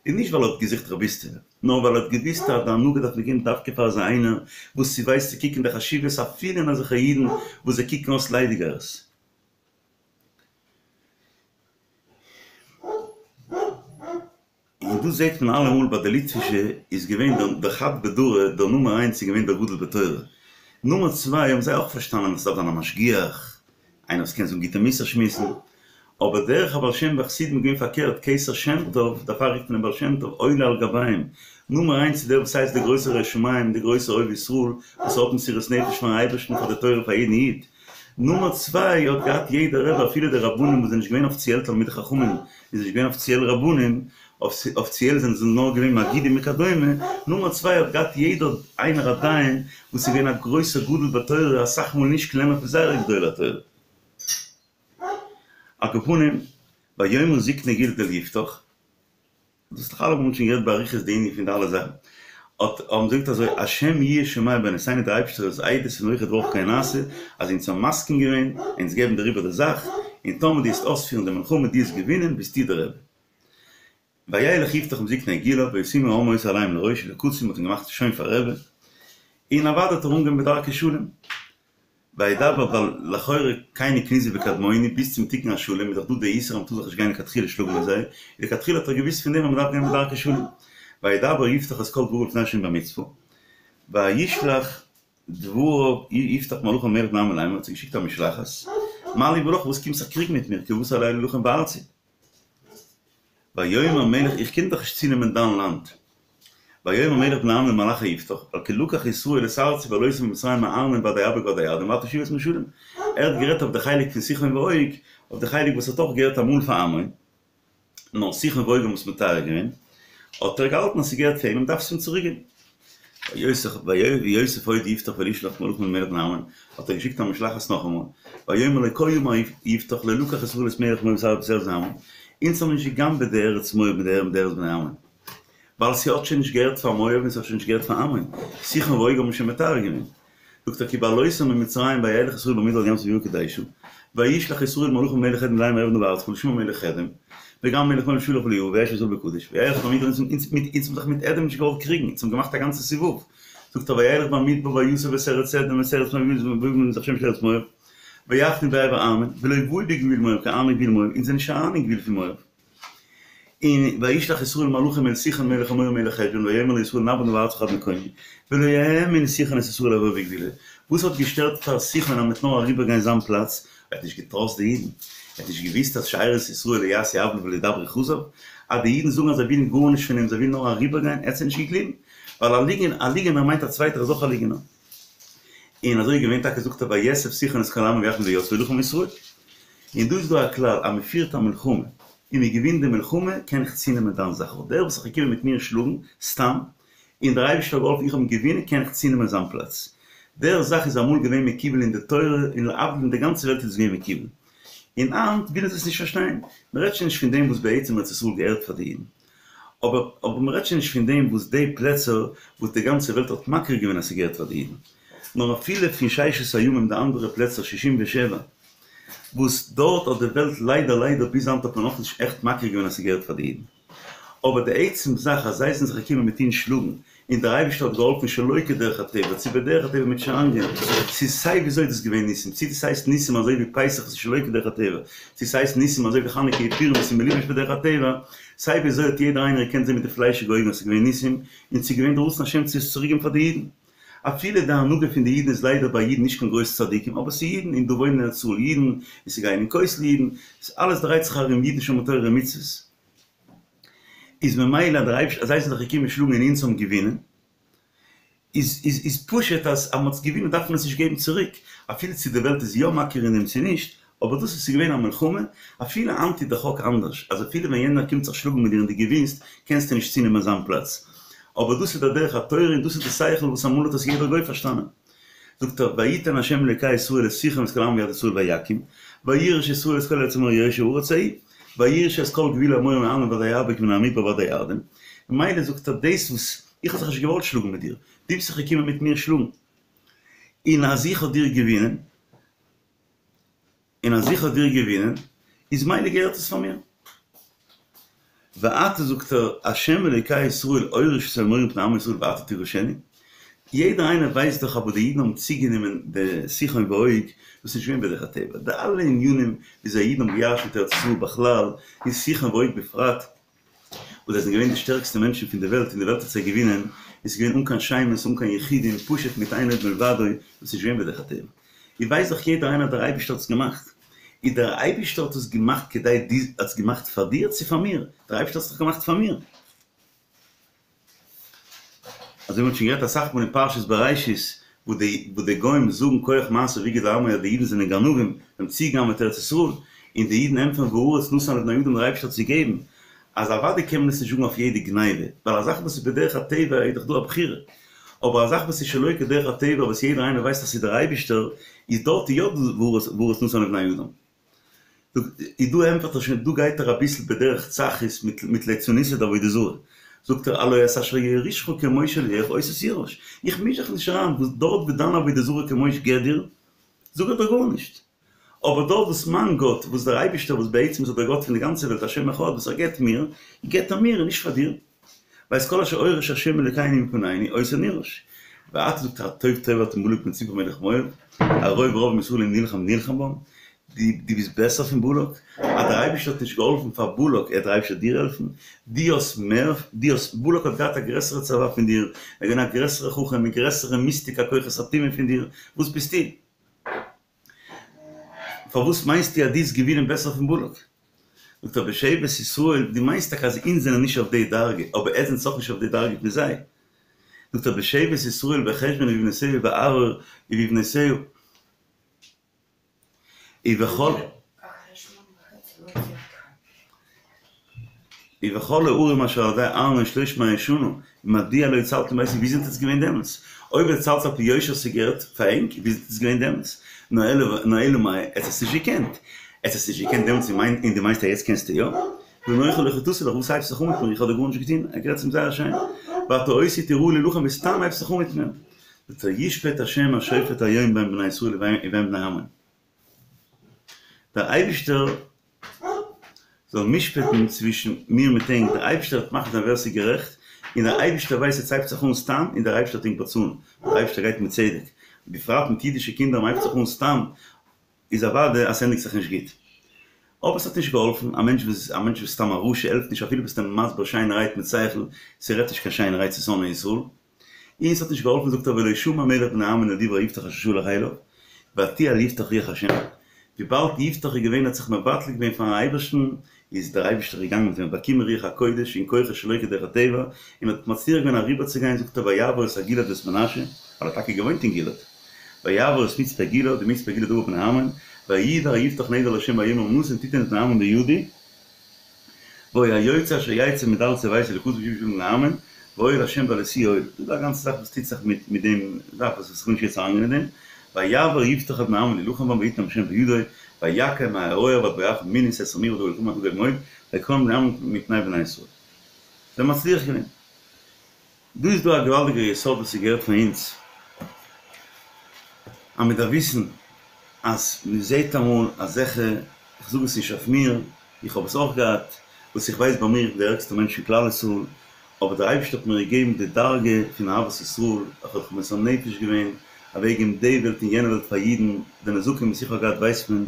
S1: און נישט ווייל ער האט געזוכט רביסטעווע נאר ווייל ער האט געוואוסט אז די הנהגה דארף מען געבן דווקא פאר אזא איינער וואס ס'ווייסט צו קוקן די חשיבות אפילו אין אזעלכע אידן וואס זיי קוקן אויס ליידיגייערס. און דאס זעט מען אלעמאל ביי די ליטווישע איז געווען דער חד בדרא דער נומער איינס איז געווען דער גדול בתורה, נומער צוויי האבן זיי אויך פארשטאנען אז ס'דארף זיין א משגיח, איינער וואס קען זאגן גוטע מוסר שמועסן, אבער דרך הבעל שם והחסידים איז געווען פארקערט, כתר שם טוב, דערפאר רופט מען אים בעל שם טוב, עולה על גביהם, נומער איינס איז דער וואס הייסט דער גרויסער ירא שמים, דער גרויסער אוהב ישראל, וואס האט מסירות נפש פארן אייבערשטן, פאר די תורה, פאר יעדן איד. נומער צוויי האט געהאט יעדער רבי אפילו די רבנים וואס זענען נישט געווען אפיציעל תלמידי חכמים און זענען נישט געווען אפיציעל רבנים, אפיציעל זענען זיי נאר געווען מגידים וכדומה, נומער צוויי האט געהאט יעדער איינער א דיין וואס איז געווען א גרויסער גדול בתורה אסאך מאל נישט קלענער פון זייערע גדולי התורה. על כל פנים, ויאמרו זקני גלעד אל יפתח. דאס איז דאך אלעמאל מ'האט שוין גערעדט באריכות די ענין פון די אלע זאכן, האט האבן זיי געזאגט אזוי השם יהיה שומע בינותינו דער אייבשטער איז עדות און אויך דברך כן נעשה אז אונז האבן מסכים געווען אונז געבן דיר איבער די זאך און טאמער דו וועסט אויספירן די מלחמה דו וועסט געווינען ביסטו דער רבי. וילך יפתח עם זקני גלעד וישימו העם אותו עליהם לראש ולקצין מ'האט אים געמאכט שוין פאר רבי און אוודאי האט ער אנגעהויבן בדרכי שלום. וידבר ווייל לכאורה קיני קניזי וקדמוני ביז צום תיקון השלם איז דאך דא די איסור אז מ'טאר זיך נישט גיין לכתחילה שלאגן מיט זיי, און לכתחילה האט ער געוואוסט פון דעם אז מ'דארף גיין בדרכי שלום. וידבר יפתח את כל דבריו לפני השם במצפה, וישלח דבריו יפתח מלאכים אל מלך בני עמון לאמר, האט זיי געשיקט א משלחת, מה לי ולך וואס קומסט זיך קריגן מיט מיר, כי באת אלי להלחם בארצי. ויאמר מלך איך קום דאך נישט צונעמען דיין לאנד. ויאמר מלך בני עמון למלאכי יפתח, על כי לקח ישראל את ארצי בהעלותם ממצרים מהארנון ועד היבוק ועד הירדן ועתה שיבת משלום. ער האט גערעדט אויף די חלק פון סיחון ועוג, אויף די חלק וואס האט אויך געהערט אמאל פאר עמון, נאר סיחון ועוג האבן עס מטהר געווען, האט ער געהאלטן אז ס'געהערט פאר אים און מ'דארף עס אים צוריקגעבן. ויוסף עוד יפתח וישלח מלאכים אל מלך בני עמון, האט ער געשיקט א משלחת נאכאמאל, ויאמר לו כה אמר יפתח לא לקח ישראל את מלך מואב ואת ארץ בני עמון, אונז האבן נישט גע'גנב'עט די ארץ מואב מיט די ארץ בני עמון, ווייל ס'האט שוין נישט געהערט פאר מואב און ס'האט שוין נישט געהערט פאר עמון, סיחון ועוג האבן שוין מטהר געווען. זאגט ער כי בהעלותם ממצרים וילך ישראל במדבר עד ים סוף ויהי קדשה, וישלח ישראל מלאכים אל מלך אדום לאמר אעברה נא בארצך ולא שמע מלך אדום, וגם מלך מואב שלח ולא יבא וישב ישראל בקדש, וילך במדבר אונז האבן זיך מיט אדום נישט געוואלט קריגן, אונז האבן געמאכט א גאנצע סיבוב, זאגט ער וילך במדבר ויסב את ארץ אדום ואת ארץ מואב ויבא את שם ארץ מואב, ויחנו בעבר ארנון, ולא באו בגבול מואב כי ארנון גבול מואב, אונז זענען נישט אריין אין גבול פון מואב. און וישלח ישראל מלאכים אל סיחון מלך האמורי מלך חשבון ויאמר לישראל נעבור נא בארצך עד מקומי ולא האמין סיחון את ישראל לעבור בגבולו וואס האט געשטערט פאר סיחון אז מ'וועט נאר אריבער גיין זיין פלאץ? ער האט נישט געטראסט די אידן? ער האט נישט געוויסט אז שארית ישראל לא יעשו עוולה ולא ידברו כזב? אז די אידן זאגן אז זיי ווילן גארנישט פון אים זיי ווילן נאר אריבער גיין ער האט זיי נישט געגליבן ווייל א ליגענער א ליגענער מיינט א צווייטער איז אויך א ליגענער און אזוי איז געווען טאקע זאגט ער ויאסף סיחון את כל עמו ויחנו ביהצה וילחם עם ישראל און דא איז דא א כלל אז מ'פירט א מלחמה און מ'געווינט די מלחמה קען איך צונעמען דיין זאך אבער דער וואס איז געקומען מיט מיר שלאגן סתם און דער אייבערשטער האט געהאלפן איך האב אים געווינען קען איך צונעמען זיין פלאץ. דער זאך איז אמאל געווען מקובל אין די תורה און להבדיל אין די גאנצע וועלט איז עס געווען מקובל און היינט ווילן זיי עס נישט פארשטיין. מ'רעדט שוין נישט פון דעם וואס בעצם ארץ ישראל געהערט פאר די אידן אבער אבער מ'רעדט שוין נישט פון דעם וואס די פלעצער וואס די גאנצע וועלט האט מכיר געווען אז ס'געהערט פאר די אידן נאר אפילו פון ששת הימים די אנדערע פלעצער שישים ושבע וואס דארט האט די וועלט ליידער ליידער ביז היינט האט מען נאכנישט עכט מכיר געווען אז ס'געהערט פאר די אידן. אבער די עצם זאך אז זיי זענען זיך געקומען מיט אונז שלאגן, און דער אייבערשטער האט געהאלפן שלא כדרך הטבע, צו בדרך הטבע מיט שאנגען, ס'איז סיי וויאזוי דאס געווען ניסים, צו דאס הייסט ניסים אזוי ווי פסח וואס איז שלא כדרך הטבע, צו ס'הייסט ניסים אזוי ווי חנוכה און פורים וואס איז מלובש בדרך הטבע, סיי וויאזוי האט יעדער איינער געקענט זען מיט די פליישיגע אויגן אז ס'איז געווען ניסים, און ס'איז געווען די רצון השם צו עס צוריקגעבן פאר די אידן. אפילו די הנהגה פון די אידן איז ליידער ביי אידן נישט קיין גרויסע צדיקים, אבער ס'איז אידן, און דא וואוינען אין ארץ ישראל אידן, און ס'גייען אין כותל אידן, אלעס דרייט זיך ארום אידן שומרי תורה ומצוות. איז ממילא אז דער אייבערשטער אז זיי זענען זיך געקומען שלאגן און אונז האבן געווינען, איז איז איז פשוט אז אז מ'האט געווינען דארף מען עס נישט געבן צוריק, אפילו צו די וועלט איז יא מכיר אין דעם צו נישט, אבער דאס איז ס'איז געווען א מלחמה, אפילו היינט איז די חוק אנדערש, אז אפילו ווען יענער קומט זיך שלאגן מיט דיר און דו געווינסט, קענסטו נישט צונעמען זיין פלאץ. אבער דאס איז דער דרך התורה און דאס איז די שכל וואס אמאל האט עס יעדער גוי פארשטאנען. זאגט ער, ויתן ה' אלוקי ישראל את סיחון ואת כל עמו ביד ישראל ויכום, וירש ישראל את כל ארץ האמורי יושבי הארץ ההיא, וירש את כל גבול האמורי מהארנון ועד היבוק ומן המדבר ועד הירדן. ממילא זאגט ער, דאס וואס איך האב זיך נישט געוואלט שלאגן מיט דיר, דו ביסט זיך געקומען מיט מיר שלאגן, און אז איך האב דיר געווינען, און אז איך האב דיר געווינען, איז מילא געהערט עס פאר מיר. ועתה זאגט ער, השם אלוקי ישראל הוריש את האמורי מפני עמו ישראל ועתה תירשנו. יעדער איינער ווייסט דאך אבער די אידן האבן צוגענומען די סיחון ועוג, דאס איז נישט געווען בדרך הטבע. די אלע ענינים וויאזוי אידן האבן געירשנט ארץ ישראל בכלל, און סיחון ועוג בפרט, וואס זיי זענען געווען די שטערקסטע מענטשן פון די וועלט און די וועלט האט זיי געווינען, איז געווען אן קיין שמות אן קיין יחידים, פשוט מיט אין עוד מלבדו, דאס איז נישט געווען בדרך הטבע. איר ווייסט דאך יעדער איינער אז דער אייבערשטער האט עס געמאכט. איז דער אייבערשטער האט עס געמאכט כדי דו, האט עס געמאכט פאר דיר צו פאר מיר? דער אייבערשטער האט עס דאך געמאכט פאר מיר. אזוי ווי מ'האט שוין גערעדט אסאך מאל אין פרשת בראשית, וואו די וואו די גוים זאגן כח מעשיו הגיד לעמו אז די אידן זענען גנבים, זיי האבן צוגעגנב'עט ארץ ישראל, און די אידן ענטפערן והארץ נתן לבני אדם דער אייבערשטער האט עס געגעבן, אז אוודאי קען מען עס נישט זאגן אויף יעדע גניבה, ווייל א זאך וואס איז בדרך הטבע איז דאך דא א בחירה, אבער א זאך וואס איז שלא כדרך הטבע וואס יעדער איינער ווייסט אז ס'איז דער אייבערשטער, איז דארט יא דא והארץ נתן לבני אדם. איז דא ענטפערט ער שוין, דא גייט ער אביסל בדרך צחות מיט מיט ליצנותא דעבודה זרה, זאגט ער הלא את אשר יורישך כמוש אלהיך אותו תירש, איך מיש זיך נישט אריין וואס דארט וואו דיין עבודה זרה כמוש געט דיר, זאג איך דיר גארנישט, אבער דארט וואס מיין גאט, וואס דער אייבישטער וואס בעצם איז דער גאט פון די גאנצע וועלט השם אחד וואס ער געט מיר, געט ער מיר און נישט פאר דיר. ואת כל אשר הוריש השם אלקינו מפנינו אותו נירש. ואתה זאגט ער הטוב טוב אתה מבלק בן ציפור מלך מואב, הרוב רב מישראל אם נלחם נלחם בם, דו ביסט בעסער פון בלק? אז דער אייבערשטער האט נישט געהאלפן פאר בלק, עט דער אייבערשטער דיר העלפן? דו האסט מער, דו האסט, בלק האט געהאט א גרעסערע צבא פון דיר, ער איז געווען א גרעסערע חכם מיט גרעסערע מיסטיקה כוחות הטומאה פון דיר, וואס ביסטו? פארוואס מיינסטו אז דו וועסט געווינען בעסער פון בלק? זאגט ער בשבט ישראל, דו מיינסט טאקע אז אונז זענען נישט אויף די דרגה, אבער עטס זענטס אויך נישט אויף די דרגה פון זיי. זאגט ער בשבט ישראל בחשבון ובבנותיה ובערוער ובבנותיה ובכל ובכל הערים אשר על ידי ארנון שלוש מאות שנה, מדוע לא הצלתם בעת ההיא, ווי זענט עטס געווען דעמאלטס? אויב עטס האלטס על פי יושר ס'געהערט פאר ענק, ווי זענט עטס געווען דעמאלטס? נאר אלא מאי, עטס האטס נישט געקענט. עטס האטס נישט געקענט דעמאלטס און דו מיינסט אז יעצט קענסטו יא? ואנכי לא חטאתי לך, וואס הייבסט זיך אן מיט מיר, איך האב דיר גארנישט געטון, ער גערעדט צו אים זייער שיין, ואתה אותי תיראה להלחם וסתם הייבסט זיך אן מיט מיר. זאגט ער ישפט השם השופט היום בין בני ישראל ובין בני עמון. דער אייבישטער זאל משפט'ן צווישן מיר מיט ענק, דער אייבישטער וועט מחליט זיין ווער ס'איז גערעכט, און דער אייבישטער ווייסט עטס הייבט זיך אן סתם, און דער אייבישטער וועט ענק באצאלן, דער אייבישטער גייט מיט צדק, בפרט מיט אידישע קינדער מ'הייבט זיך אן סתם, איז אוודאי אז ס'ענדיגט זיך נישט גוט. אבער ס'האט נישט געהאלפן, א מענטש וואס א מענטש וואס איז סתם א רשע העלפט נישט אפילו ביסט אים מסביר שיינערהייט מיט שכל, ס'רעדט נישט קיין שיינערהייט צו שונאי ישראל. און ס'האט נישט געהאלפן זאגט ער ולא שמע מלך בני עמון אל דברי יפתח אשר שלח אליו, ותהי על יפתח רוח השם. וויבאלד יפתח איז געווען האט זיך מבטל געווען פארן אייבערשטן, איז דער אייבערשטער געגאנגען מיט אים באקומען רוח הקודש און כוחות שלא כדרך הטבע, און האט מצליח געווען אריבערצוגיין, זאגט ער ויעבור את הגלעד ואת מנשה, ווייל ער האט טאקע געוואוינט אין גלעד, ויעבור את מצפה גלעד ומצפה גלעד עבר בני עמון, וינדר יפתח נדר לה' ויאמר נתון תתן את בני עמון בידי, והיה היוצא אשר יצא מדלתי ביתי לקראת בשבעים ושבעה בני עמון, והיה לה' והלסי אוהל. דא איז א גאנצע זאך וואס טוט זיך מיט מיט דעם זאך וואס איך וויל נישט יעצט אריינגיין אין דעם, ויעבור יפתח את בני עמון להילחם בם ויתנם ה' בידו, ויכם מהערוער ועד בואכה מינית עשרה עיר ודגל תמר דגל מאוד, ויכנעו בני עמון מפני בני ישראל. זיי האבן מצליח געווען. דא איז דא א געוואלדיגער יסוד וואס איז געהערט פאר אונז, אז מען דארף וויסן אז מען זעט אמאל אזעלכע, איך זאג עס נישט אויף מיר, איך האב עס אויך געהאט, וואס איך ווייס ביי מיר איך בין דער ערגסטער מענטש אין כלל ישראל, אבער דער אייבערשטער האט מיר געגעבן די דרגה פון אהבת ישראל, איך האב זיך מוסר נפש געווען, אוועקגעגעבן די וועלט און יענע וועלט פאר אידן, די נזקים וואס איך האב געהאט ווייסט מען,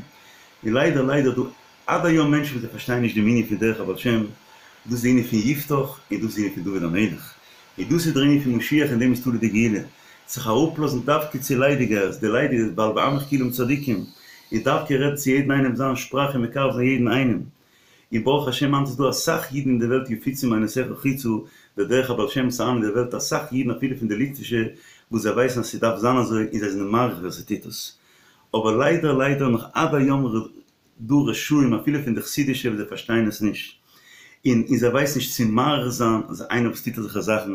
S1: און ליידער ליידער דא עד היום מענטשן וואס זיי פארשטייען נישט דעם ענין פון דרך הבעל שם, דאס איז די ענין פון יפתח, און דאס איז די ענין פון דוד המלך, און דאס איז דער ענין פון משיח אין דעם איז תלוי די גאולה, זיך אראפלאזן דווקא צו ליידיגייערס, די ליידיגייערס ווייל בעמך כולם צדיקים, און דווקא רעדן צו יעדן איינעם זיין שפראך און מקרב זיין יעדן איינעם. און ברוך השם היינט איז דא אסאך אידן אין די וועלט יפיצו מעינותיך חוצה, דער דרך הבעל שם איז אריין אין די וועלט אסאך אידן אפילו פון די ליטווישע וואס זיי ווייסן אז ס'דארף זיין אזוי און זיי זענען מעריך ווער ס'טוט עס, אבער ליידער ליידער נאך עד היום דא רשעים אפילו פון די חסידישע וואס זיי פארשטייען עס נישט, און און זיי ווייסן נישט צו מעריך זיין אז איינער וואס טוט אזעלכע זאכן,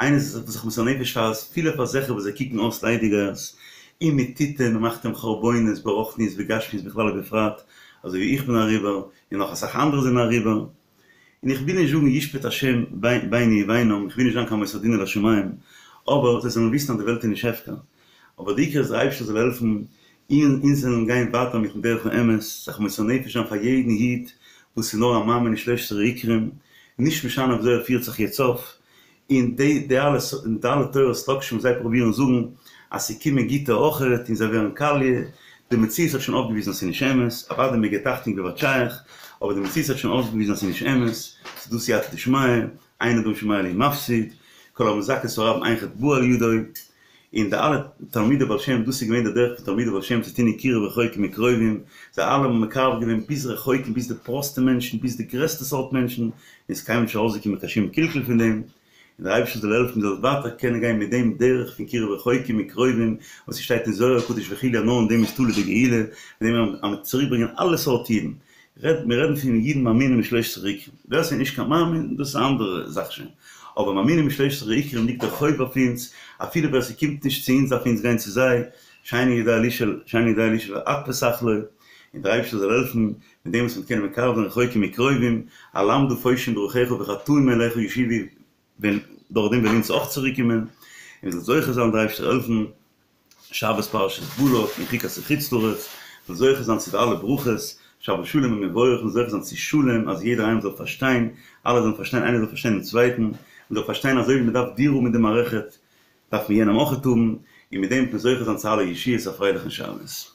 S1: איינער וואס זיך מוסר נפש פאר אפילו פאר אזעלכע וואס זיי קוקן אויס ליידיגייערס, און מען טוט אים, מען מאכט אים חרבונות ברוחניות וגשמיות בכלל ובפרט, אזוי ווי איך בין אריבער, און נאך אסאך אנדערע זענען אריבער. און איך וויל נישט זאגן ישפט השם ביני ובינם, איך וויל נישט זיין קיין מוסר דין אל השמים, אבער זיי זאלן וויסן אז די וועלט איז נישט הפקר, אבער די עיקר איז דער אייבערשטער זאל העלפן און אונז זאלן גיין ווייטער מיטן דרך האמת, זיך מוסר נפש זיין פאר יעדן איד וואס איז נאר א מאמין אין שלשת עיקרים, נישט משנה וויאזוי ער פירט זיך יעצט אויף, און די די אלע די אלע תורות לאקשן וואס זיי פרובירן זאגן אז ס'קומען גוטע אויכעט און זיי ווערן קאליע, די מציאות האט שוין אויפגעוויזן אז ס'איז נישט אמת, אוודאי מען געבט אכטונג ווער שייך, אבער די מציאות האט שוין אויפגעוויזן אז ס'איז נישט אמת, ס'איז דא סייעתא דשמיא, אין אדם שומע לי מפסיד, כל המזכה את הרבים אין חטא בא על ידו, און די אלע תלמידי בעל שם, דאס איז געווען די דרך פון תלמידי בעל שם צו טון אין קירוב רחוקים מקרובים, זיי אלע האבן מקרב געווען ביז רחוקים, ביז די פראסטע מענטשן, ביז די גרעסטע סארט מענטשן, און ס'איז קיינמאל נישט ארויסגעקומען קיין שום קלקול פון דעם, און דער אייבערשטער זאל העלפן מ'זאל ווייטער קענען גיין מיט דעם דרך פון קירוב רחוקים מקרובים, וואס ס'שטייט אין זוהר הקדוש וכו' אז נאר אין דעם איז תלוי די גאולה, מיט דעם אז מ'וועט צוריקברענגען אלע סארט אידן, רעד, מיר רעדן פון אידן מאמינים בשלושת עיקרים, ווער ס'איז נישט קיין מאמין דאס איז א אנדערע זאך שוין, אבער מאמינים בשלושת עיקרים ליגט דער חוב אויף אונז, אפילו ווער ס'קומט נישט צו אונז דארף אונז גיין צו זיי, שאינו יודע לשאול, שאינו יודע לשאול את פתח לו, און דער אייבערשטער זאל העלפן מיט דעם וואס מ'וועט קענען מקרב זיין רחוקים מקרובים, אלמדה פושעים דרכיך וחטאים אליך ישובו, ווען דורך דעם וועלן אונז אויך צוריק קומען, און מ'זאל זוכה זיין דער אייבערשטער העלפן, שבת פרשת בלק אין חוקת חוץ לארץ, מ'זאל זוכה זיין צו די אלע ברכות, שבת שלום ומבורך, מ'זאל זוכה זיין צו שלום, אז יעדער איינער זאל פארשטיין, אלע זאלן פארשטיין, איינער זאל פארשטיין דעם צווייטן, מ'זאל פארשטיין אזוי ווי מ'דארף דיר האבן אין די מערכת, דארף מען יענעם אויכעט האבן, און מיט דעם וועט מען זוכה זיין צו אלע ישועות, א פרייליכן שבת.